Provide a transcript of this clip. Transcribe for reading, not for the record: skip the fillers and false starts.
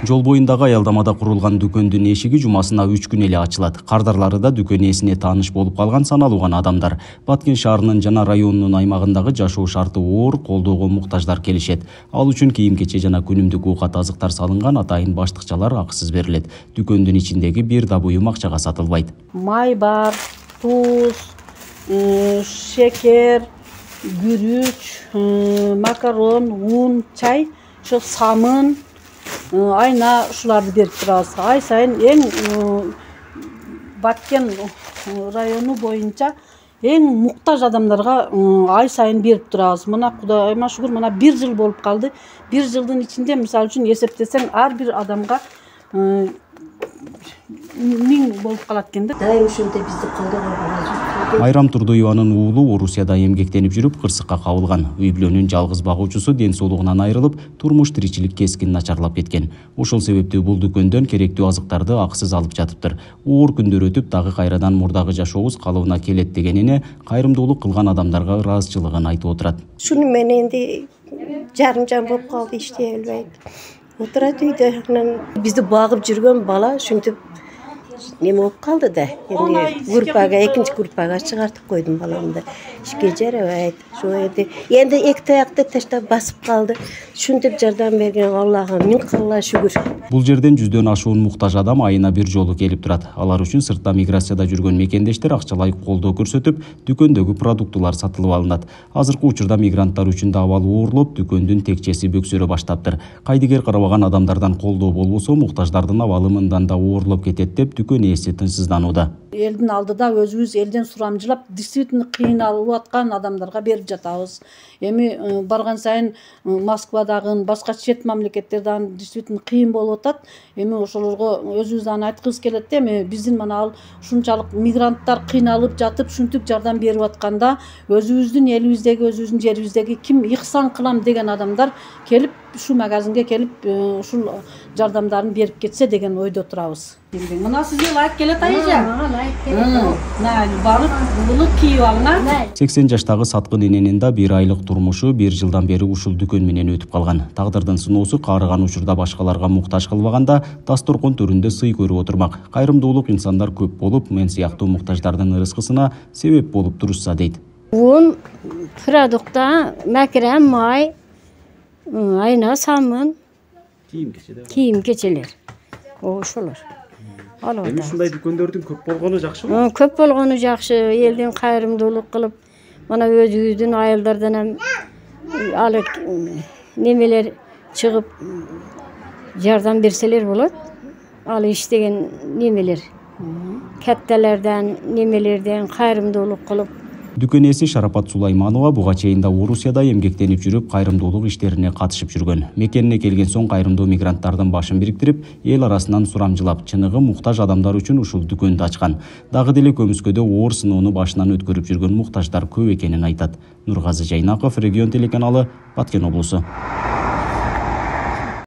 Жол боюндагы аялдамада курулган дүкөндүн эшиги жумасына 3 күн эле ачылат. Кардарларыда дүкөн ээсине тааныш болуп калган саналуу гана адамдар. Баткен шаарынын жана районунун аймагындагы жашоо шарты оор, колдоого муктаждар келишет. Ал үчүн кийим-кече жана күнүмдүк уукат азыктар салынган атайын баштыкчалар акысыз берилет. Дүкөндүн ичиндеги бир да буюм акчага сатылбайт. Май бар, туз, шекер, күрүч, макарон, un, чай, ошо самын, айна ушуларды берип турабыз. Ай сайын эң Баткен району боюнча эң муктаж адамдарга ай сайын берип турабыз. Мына Кудайыма шүгүр, мына 1 жыл болуп калды. 1 жылдын ичинде мисалы үчүн эсептесең ар бир адамга 1000 болуп калат экен да. Дайым ушинтип бизди колдогон болот. Майрам Турдуеванын уулу Орусияда эмгектенип жүрүп кырсыкка кабылган. Үй бүлөнүн жалгыз багуучусу ден соолугунан айрылып, турмуш тиричилик кескин начарлап кеткен. Ошол себептүү бул дүкөндөн керектүү азыктарды акысыз алып жатыптыр. Оор күндөр өтүп, дагы кайрадан мурдагы жашообуз калыбына келет дегенине кайрымдуулук кылган адамдарга ыраазычылыгын айтып отурат. Шуну менен энди жарым жан болуп калды, иштей албайт. Отурат үйдө. Бизди багып жүргөн бала ушинтип неме болуп калды да. Энди группага, экинчи группага чыгартып койдум баламды. Ишке жарабайт. Энди эки таякты таштап басып калды. Ушинтип жардам берген Аллага миң калла шүгүр. Бул жерден 100дөн ашуун муктаж адам айына бир жолу келип турат. Алар үчүн сыртта миграцияда жүргөн мекендештер акчалай колдоо көрсөтүп, дүкөндөгү продуктулар сатылып алынат. Азыркы учурда мигранттар үчүн да абал оорлоп, дүкөндүн текчеси бөксөрө баштаптыр. Кайдыгер карабаган адамдардан колдоо болбосо, муктаждардын абалы мындан да оорлоп кетет деп дүкөн ээси тынчсызданууда. Элдин алдыда өзүбүз элден сурамжылап, действительно кыйналып аткан адамдарга берип жатабыз. Эми барган сайын Москвадагы, башка чет мамлекеттерден действительно кыйын болуп атат. Эми ошолорго өзүбүздөн айткыбыз келет да, эми биздин мына ал ушунчалык мигранттар кыйналып жатып, ушинтип жардам берип атканда, өзүбүздүн элибиздеги, өзүбүздүн жерибиздеги ким ихсан кылам деген адамдар келип, ушу магазинге келип, ушул жардамдарын берип кетсе деген ойдо турабыз. Мына сизге лайк келет айжа. Барып, буну кийип алыңар. 80 жаштагы саткын эненин да 1 айлык турмушу 1 жылдан бери ушул дүкөн менен өтүп калган. Тагдырдын сыноосу каарыган учурда башкаларга муктаж кылбаганда, дасторкон төрүндө сый көрүп отурмак. Кайрымдуулук инсандар көп болуп, мен сыяктуу муктаждардын ырыскысына себеп болуп турушса дейт. Un, продукта, макарон, май, айна, самын, кийим-кечелер. Ошолор. Эми ушундай дүкөндөрдүн көп болгону жакшыбы? Көп болгону жакшы, элдин кайрымдуулук кылып, мына өзүбүздүн айылдардан ham алып немелер чыгып жардам берселер болот. Ал иштеген немелер, катталардан, немелерден кайрымдуулук кылып. Дүкөн ээси Шарапат Сулайманова буга чейин да Орусияда эмгектенип жүрүп, кайрымдуулук иштерине катышып жүргөн. Мекенине келген соң кайрымдуу мигранттардын башын бириктирип, эл арасынан сурамжылап, чыныгы муктаж адамдар үчүн ушул дүкөндү ачкан. Дагы деле көмүскөдө оор сыноону башынан өткөрүп жүргөн муктаждар көп экенин айтат. Нургазы Жайнаков, Регион телеканалы, Баткен облусу.